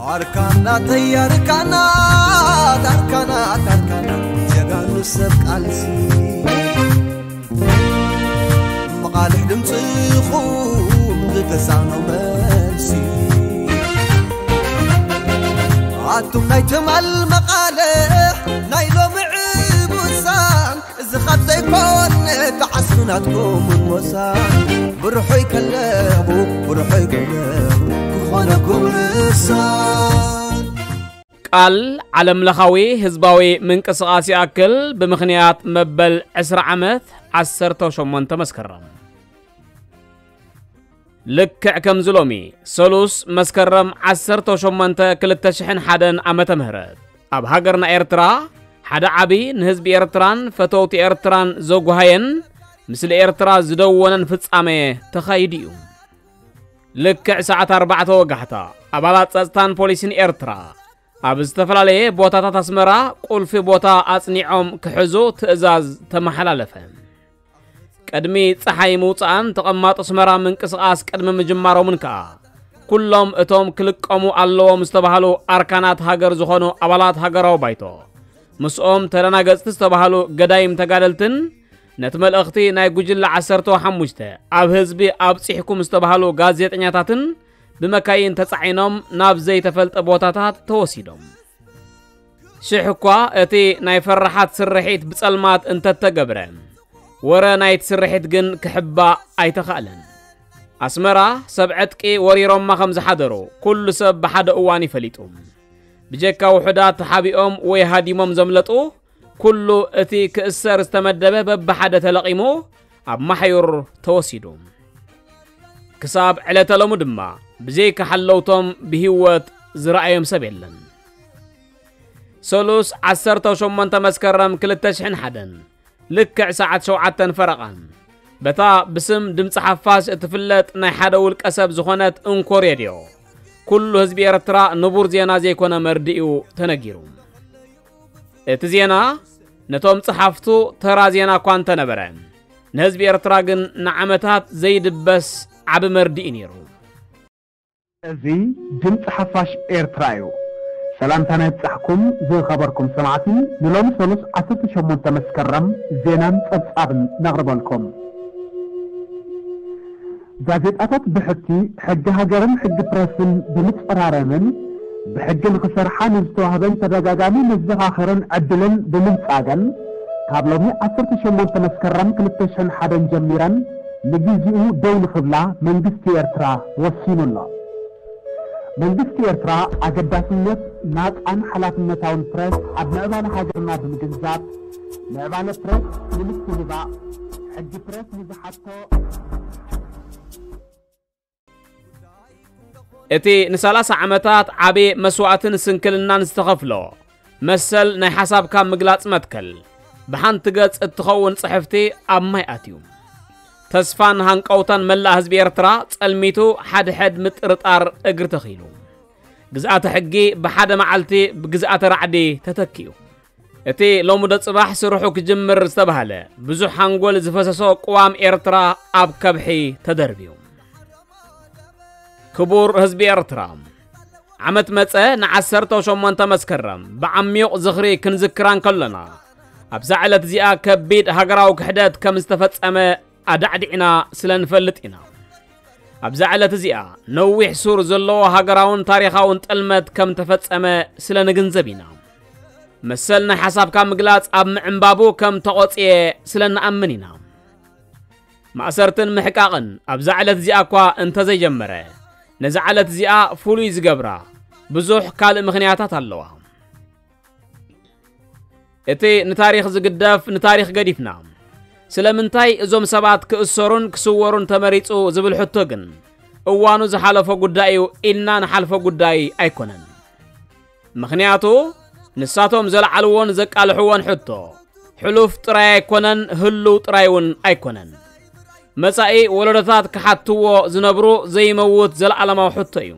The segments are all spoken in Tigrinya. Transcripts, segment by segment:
ኣርካናተይ ኣርካናት ኣርካናት ኣርካናት ጀጋኑ ሰብ ቃልሲ መቓልሕ ድምፅኹም ዝተሳኖ መልሲ ኣቱም ናይ ትማል መቓልሕ ናይ ሎሚ ዕቡሳን እዚ ኻብ ዘይኮነ ተዓስቡ ናትኩም ሞሳ ብርሖይ ከለኹ ብርሖይ ከለኹ ክኾነኩም ንሳ ቃል ዓለምለኻዊ ህዝባዊ ምንቅስቓስ ይኣክል ብምኽንያት መበል ዕስራ ዓመት ዓሰርተ ሸሞንተ መስከረም ልክዕ ከምዚ ሎሚ ሰሉስ መስከረም ዓሰርተ ሸሞንተ ክልተ ሽሕን ሓደን ዓመተ ምህረት ኣብ ሃገርና ኤርትራ ሓደ ዓቢ ንህዝቢ ኤርትራን ፈተውቲ ኤርትራን ዘጉሃየን ምስሊ ኤርትራ ዝደወነን ፍጻመ ተኻይዱ እዩ። ልክዕ ሰዓት ኣርባዕተ ወጋሕታ ኣባላት ጸጥታን ፖሊስን ኤርትራ ኣብ ዝተፈላለየ ቦታታት ኣስመራ ቁልፊ ቦታ ኣጽኒዖም ክሕዙ ትእዛዝ ተመሓላለፈ። ቅድሚ ጸሓይ ምውጽኣን ተቐማጦ ኣስመራ ምንቅስቓስ ቅድሚ ምጅማሮምን ከኣ ኩሎም እቶም ክልቀሙ ኣለዎም ዝተባህሉ ኣርካናት ሃገር ዝኾኑ ኣባላት ሃገራዊ ባይቶ ምስኦም ተደናገጽቲ ዝተባህሉ ገዳይም ተጋደልትን ነቲ መልእኽቲ ናይ ጉጅለ ዓሰርተ ሓሙሽተ ኣብ ህዝቢ ኣብጺሕኩም ዝተባህሉ ጋዜጠኛታትን ብመካይን ተጻዒኖም ናብ ዘይተፈልጠ ቦታታት ተወሲዶም። ሽሕ እኳ እቲ ናይ ፈራሓት ስርሒት ብጸልማት እንተተገብረ፣ ወረ ናይቲ ስርሒት ግን ክሕባእ ኣይተኻእለን። ኣስመራ ሰብ ዕጥቂ ወሪሮማ ከም ዝሓደሩ ኩሉ ሰብ ብሓደ እዋን ይፈሊጡ። ብጀካ ውሑዳት ተሓቢኦም ወይ ሃዲሞም ዘምለጡ፣ ኩሉ እቲ ክእሰር ዝተመደበ በብሓደ ተለቒሙ ኣብ ማሕዩር ተወሲዱ። ክሳብ ዕለተ ሎሚ ድማ ብዘይካ ሓለውቶም ብህይወት ዝረኣዮም ሰብ የለን። ሰሉስ ዓሰርተ ሸሞንተ መስከረም ክልተ ሽሕን ሓደን ልክዕ ሰዓት ሸውዓተን ፈረቓን በታ ብስም ድምፂ ሓፋሽ እትፍለጥ ናይ ሓደ ውልቀ ሰብ ዝኾነት እንኮ ሬድዮ ኩሉ ህዝቢ ኤርትራ ንቡር ዜና ዘይኮነ መርድእዩ ተነጊሩ። እቲ ዜና ነቶም ጸሓፍቱ ተራ ዜና እኳ እንተነበረ፣ ንህዝቢ ኤርትራ ግን ንዓመታት ዘይድበስ ዓቢ መርድእ እዩ ነይሩ። እዚ ድምፂ ሓፋሽ ኤርትራ እዩ። ሰላምታና ይብጻሕኩም ዝኸበርኩም ሰማዕቲ፣ ንሎሚ ሰሉስ ዓሰርተ ሸሞንተ መስከረም ዜናን ጸብጻብን ነቕርበልኩም። ጋዜጣታት ብሕቲ ሕጊ ሃገርን ሕጊ ፕረስን ብምጽራረምን ብሕጊ ንኽሰርሓ ንዝተዋህበን ተደጋጋሚ መዘኻኸርን ዕድልን ብምንጻገን ካብ ሎሚ ዓሰርተ ሸሞንተ መስከረም ክልተ ሽሕን ሓደን ጀሚረን ንግዚኡ ደው ንኽብላ መንግስቲ ኤርትራ ወሲኑ ኣሎ። መንግስቲ ኤርትራ ኣገዳስነት ናጻን ሓላፍነታውን ፕረስ ኣብ ምዕባለ ሃገርና ብምግንዛብ ምዕባለ ፕረስ ንምትህባእ ሕጊ ፕረስ ንዝሓቶ እቲ ንሰላሳ ዓመታት ዓቢ መስዋእትን ስንክልናን ዝተኸፍሎ መሰል ናይ ሓሳብካ ምግላጽ መትከል ብሓንቲ ገጽ እትኸውን ጽሕፍቲ ኣብ ማይ ኣትዩ። ተስፋን ሃንቀውታን መላእ ህዝቢ ኤርትራ ጸልሚቱ ሓድሕድ ምጥርጣር እግሪ ተኺሉ። ግዝኣተ ሕጊ ብሓደ መዓልቲ ብግዝኣተ ራዕዲ ተተኪኡ። እቲ ሎሚ ዶ ጽባሕ ስርሑ ክጅምር ዝተባህለ ብዙሕ ሓንጎል ዝፈሰሶ ቅዋም ኤርትራ ኣብ ከብሒ ተደርብዩ። ክቡር ህዝቢ ኤርትራ፣ ዓመት መጸ ንዓሰርተ ሸሞንተ መስከረም ብዓሚቕ ዝኽሪ ክንዝክራ እንከሎና፣ ኣብዛ ዕለት እዚኣ ከቢድ ሃገራዊ ክሕደት ከም ዝተፈጸመ ኣዳዕዲዕና ስለ ንፈልጥ ኢና። ኣብዛ ዕለት እዚኣ ነዊሕ ሱር ዘለዎ ሃገራውን ታሪኻውን ጥልመት ከም ተፈጸመ ስለ ንግንዘብ ኢና። መሰል ናይ ሓሳብካ ምግላጽ ኣብ ምዕንባቡ ከም ተቖጽየ ስለ ንኣምን ኢና። ማእሰርትን ምሕቃቕን ኣብዛ ዕለት እዚኣ እኳ እንተዘይጀመረ፣ ነዛ ዕለት እዚኣ ፍሉይ ዝገብራ ብዙሕ ካልእ ምኽንያታት ኣለዋ። እቲ ንታሪኽ ዝግደፍ ንታሪኽ ገዲፍና ስለምንታይ እዞም ሰባት ክእሰሩን ክስወሩን ተመሪጹ ዝብል ሕቶ ግን እዋኑ ዝሓለፎ ጉዳይ እዩ ኢልና ንሓልፎ ጉዳይ ኣይኮነን። ምኽንያቱ ንሳቶም ዘልዓልዎን ዘቃልሕዎን ሕቶ ሕሉፍ ጥራይ ኣይኮነን፣ ህሉው ጥራይ እውን ኣይኮነን። መጻኢ ወለዶታት ክሓትዎ ዝነብሩ ዘይመውት ዘለዓለማዊ ሕቶ እዩ።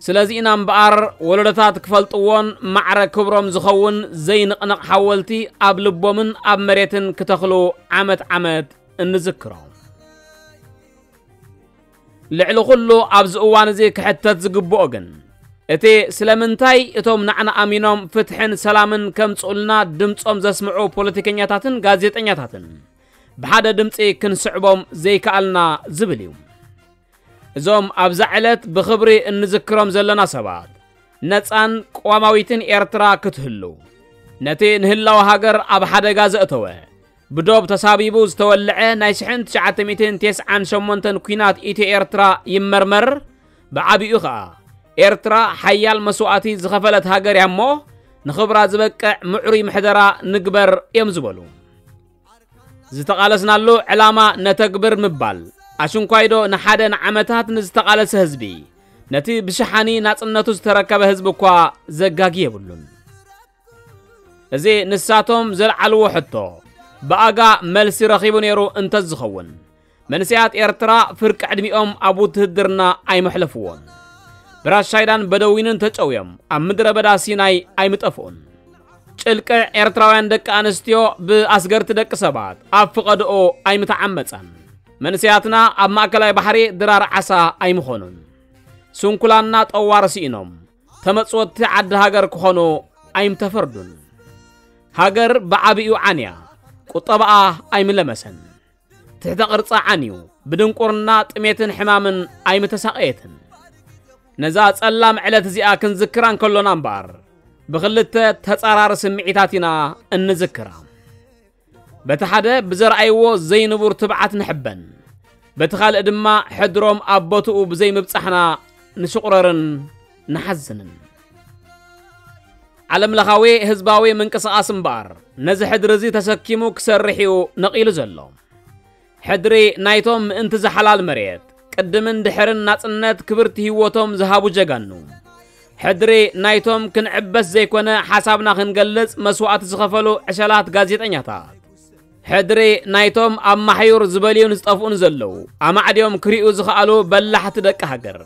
ስለዚ ኢና እምበኣር ወለዶታት ክፈልጥዎን ማዕረ ክብሮም ዝኸውን ዘይንቕነቕ ሓወልቲ ኣብ ልቦምን ኣብ መሬትን ክተኽሉ ዓመት ዓመት እንዝክሮም። ልዕሊ ኩሉ ኣብዚ እዋን እዚ ክሕተት ዝግብኦ ግን እቲ ስለምንታይ እቶም ንዓና ኣሚኖም ፍትሕን ሰላምን ከምጽኡልና ድምጾም ዘስምዑ ፖለቲከኛታትን ጋዜጠኛታትን ብሓደ ድምጺ ክንስዕቦም ዘይከኣልና ዝብል እዩ። እዞም ኣብዛ ዕለት ብኽብሪ እንዝክሮም ዘለና ሰባት ነጻን ቅዋማዊትን ኤርትራ ክትህሉ፣ ነቲ ንህላወ ሃገር ኣብ ሓደጋ ዘእተወ ብዶብ ተሳቢቡ ዝተወልዐ ናይ ሽሕን ትሽዓተ ሚእትን ተስዓን ሸሞንተን ኲናት ኢትዮ ኤርትራ ይመርመር፣ ብዓቢኡ ኸኣ ኤርትራ ሓያል መስዋእቲ ዝኸፈለት ሃገር እያ እሞ ንኽብራ ዝበቅዕ ምዕሩይ ምሕደራ ንግበር እዮም ዝበሉ። ዝተቓለስናሉ ዕላማ ነተግብር ምባል ኣሽንኳይዶ ንሓደ ንዓመታት ንዝተቓለሰ ህዝቢ ነቲ ብሽሓኒ ናጽነቱ ዝተረከበ ህዝቢ እኳ ዘጋጊ የብሉን። እዚ ንሳቶም ዘልዓልዎ ሕቶ ብኣጋ መልሲ ረኺቡ ነይሩ እንተዝኸውን መንስያት ኤርትራ ፍርቂ ዕድሚኦም ኣብ ውትህድርና ኣይመሕለፍዎን። ብራሻይዳን በደዊንን ተጨውዮም ኣብ ምድረ በዳ ሲናይ ኣይምጠፍኡን። ጭልቅዕ ኤርትራውያን ደቂ ኣንስትዮ ብኣስገርቲ ደቂ ሰባት ኣብ ፍቐድኦ ኣይምተዓመጸን። መንስያትና ኣብ ማእከላይ ባሕሪ ድራር ዓሳ ኣይምኾኑን። ስንኩላና ጠዋር ስኢኖም ተመጽወቲ ዓዲ ሃገር ክኾኑ ኣይምተፈርዱን። ሃገር ብዓቢኡ ዓንያ ቁጠባኣ ኣይምለመሰን። ትሕተ ቅርጻ ዓንዩ ብድንቁርና ጥሜትን ሕማምን ኣይምተሳቐየትን። ነዛ ጸላም ዕለት እዚኣ ክንዝክራ እንከሎና እምበኣር ብኽልተ ተጻራሪ ስምዒታት ኢና እንዝክራ። በቲ ሓደ ብዘርኣይዎ ዘይንቡር ትብዓት ንሕበን፣ በቲ ካልእ ድማ ሕድሮም ኣብ ቦትኡ ብዘይምብጻሕና ንሽቑረርን ንሓዝንን። ዓለምለኻዊ ህዝባዊ ምንቅስቓስ እምበኣር ነዚ ሕድሪ እዚ ተሰኪሙ ክሰርሕ እዩ ነቒሉ ዘሎ። ሕድሪ ናይቶም ምእንቲ ዝሓላል መሬት ቅድምን ድሕርን ናጽነት ክብርቲ ህይወቶም ዝሃቡ ጀጋኑ። ሕድሪ ናይቶም ክንዕበስ ዘይኮነ ሓሳብና ክንገልጽ መስዋእቲ ዝኸፈሉ ዕሸላት ጋዜጠኛታት። ሕድሪ ናይቶም ኣብ ማሕዩር ዝበልዩን ዝጠፍኡን ዘለዉ ኣማዕድዮም ክሪኡ ዝኸኣሉ በላሕቲ ደቂ ሃገር።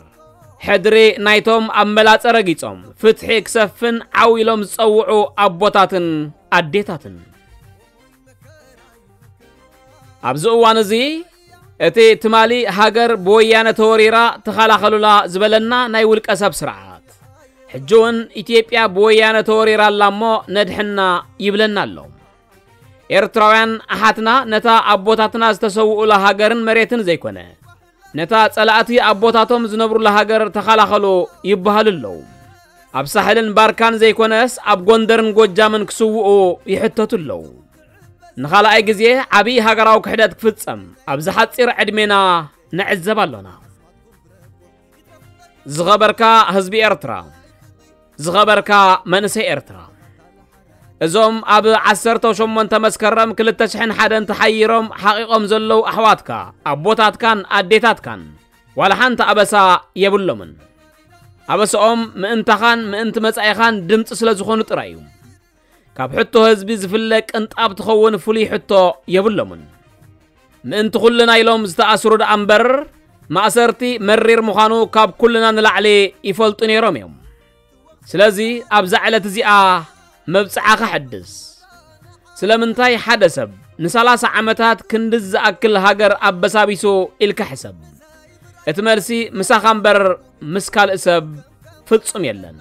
ሕድሪ ናይቶም ኣብ መላጸ ረጊጾም ፍትሒ ክሰፍን ዓው ኢሎም ዝጸውዑ ኣቦታትን ኣዴታትን። ኣብዚ እዋን እዚ እቲ ትማሊ ሃገር ብወያነ ተወሪራ ተኸላኸሉላ ዝበለና ናይ ውልቀ ሰብ ስርዓት ሕጂ እውን ኢትዮጵያ ብወያነ ተወሪራ ኣላ እሞ ነድሕና ይብለና ኣሎ። ኤርትራውያን ኣሓትና ነታ ኣቦታትና ዝተሰውኡላ ሃገርን መሬትን ዘይኮነ ነታ ጸላእቲ ኣቦታቶም ዝነብሩላ ሃገር ተኸላኸሉ ይበሃሉ ኣለዉ። ኣብ ሳሕልን ባርካን ዘይኮነስ ኣብ ጎንደርን ጎጃምን ክስውኡ ይሕተቱ ኣለዉ። ንኻልኣይ ግዜ ዓብዪ ሃገራዊ ክሕደት ክፍጸም ኣብዚ ሓጺር ዕድሜና ንዕዘብ ኣሎና። ዝኸበርካ ህዝቢ ኤርትራ፣ ዝኸበርካ መንእሰይ ኤርትራ፣ እዞም ኣብ ዓሰርተ ሸሞንተ መስከረም ክልተ ሽሕን ሓደን ተሓይሮም ሓቒቖም ዘለዉ ኣሕዋትካ፣ ኣቦታትካን ኣዴታትካን ዋላ ሓንቲ ኣበሳ የብሎምን። ኣበስኦም ምእንታኻን ምእንቲ መጻኢኻን ድምጺ ስለ ዝኾኑ ጥራይ እዩ። ካብ ሕቶ ህዝቢ ዝፍለ ቅንጣብ ትኸውን ፍሉይ ሕቶ የብሎምን። ምእንቲ ኩልና ኢሎም ዝተኣስሩ ደኣ እምበር ማእሰርቲ መሪር ምዃኑ ካብ ኩልና ንላዕሊ ይፈልጡ ነይሮም እዮም። ስለዚ ኣብዛ ዕለት እዚኣ መብጽዓ ከሐድስ። ስለምንታይ ሓደ ሰብ ንሰላሳ ዓመታት ክንድዚ ዝኣክል ሃገር ኣበሳቢሱ ኢልካ ሕሰብ። እቲ መልሲ ምሳኻ እምበር ምስ ካልእ ሰብ ፍጹም የለን።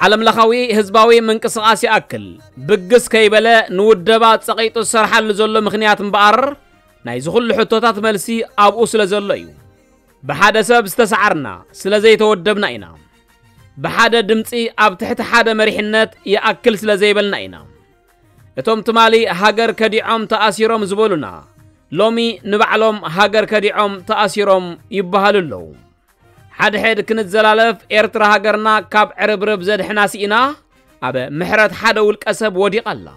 ዓለምለኻዊ ህዝባዊ ምንቅስቓስ ይኣክል ብግስ ከይበለ ንውደባ ጸቒጡ ዝሰርሓሉ ዘሎ ምኽንያት እምበኣር ናይዚ ኩሉ ሕቶታት መልሲ ኣብኡ ስለ ዘሎ እዩ። ብሓደ ሰብ ዝተሰዓርና ስለ ዘይተወደብና ኢና። ብሓደ ድምጺ ኣብ ትሕቲ ሓደ መሪሕነት ይኣክል ስለ ዘይበልና ኢና። እቶም ትማሊ ሃገር ከዲዖም ተኣሲሮም ዝበሉና ሎሚ ንባዕሎም ሃገር ከዲዖም ተኣሲሮም ይበሃሉ ኣለዉ። ሓድሕድ ክንዘላለፍ ኤርትራ ሃገርና ካብ ዕርብርብ ዘድሕና ስኢና ኣብ ምሕረት ሓደ ውልቀ ሰብ ወዲቓ ኣላ።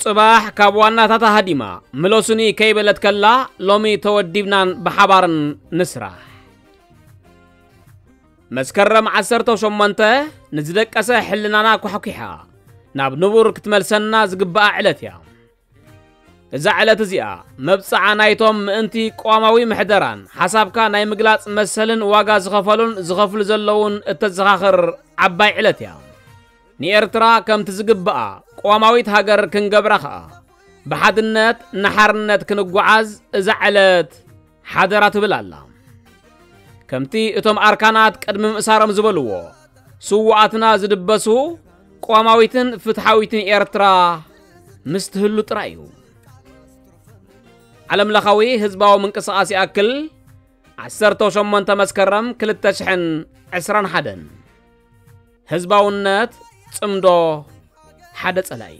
ጽባሕ ካብ ዋናታታ ሃዲማ ምለሱኒ ከይበለት ከላ ሎሚ ተወዲብናን ብሓባርን ንስራሕ። መስከረም ዓሰርተ ሸሞንተ ንዝደቀሰ ሕልናና ኳሕኲሓ ናብ ንቡር ክትመልሰና ዝግብኣ ዕለት እያ። እዛ ዕለት እዚኣ መብጽዓ ናይቶም ምእንቲ ቅዋማዊ ምሕደራን ሓሳብካ ናይ ምግላጽ መሰልን ዋጋ ዝኸፈሉን ዝኸፍሉ ዘለዉን እተዘኻኽር ዓባይ ዕለት እያ። ንኤርትራ ከምቲ ዝግብኣ ቅዋማዊት ሃገር ክንገብራ ኸኣ ብሓድነት ንሓርነት ክንጓዓዝ እዛ ዕለት ሓደራ ትብል ኣላ። ከምቲ እቶም ኣርካናት ቅድሚ ምእሳሮም ዝበልዎ፣ ስውኣትና ዝድበሱ ቅዋማዊትን ፍትሓዊትን ኤርትራ ምስ ትህሉ ጥራይ እዩ። ዓለምለኻዊ ህዝባዊ ምንቅስቓስ ይኣክል፣ ዓሰርተ ሸሞንተ መስከረም ክልተ ሽሕን ዕስራን ሓደን። ህዝባውነት ጽምዶ ሓደ ጸላይ።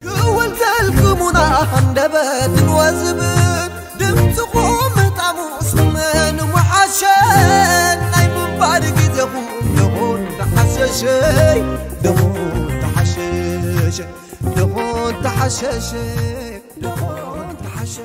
ክውልተልኩሙና ሃንደበትን ወዝብን ድምፅኹም ምጣሙ ስምን ምሓሸን ናይ ምንባር ግዜኹም ደኾን ተሓሸሸይ ደኾን ተሓሸሸ ደኾን ተሓሸሸ ደኾን ተሓሸ